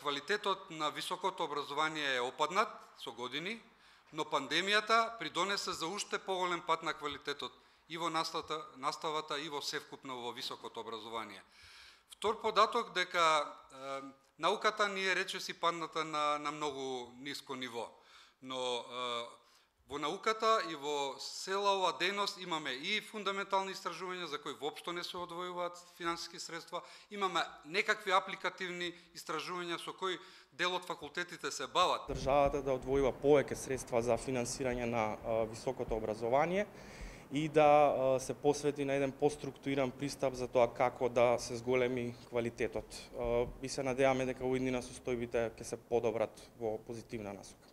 квалитетот на високото образование е опаднат со години, но пандемијата придонесе за уште поголем пад на квалитетот и во наставата и во севкупно во високото образование. Втор податок дека науката ни е речиси падната на многу ниско ниво, но во науката и во цела оваа дејност имаме и фундаментални истражувања за кои воопшто не се одвојуваат финансиски средства, имаме некакви апликативни истражувања со кои дел од факултетите се бават. Државата да одвојува повеќе средства за финансирање на високото образование и да се посвети на еден поструктуриран пристап за тоа како да се зголеми квалитетот. И се надеваме дека во иднина состојбите ќе се подобрат во позитивна насока.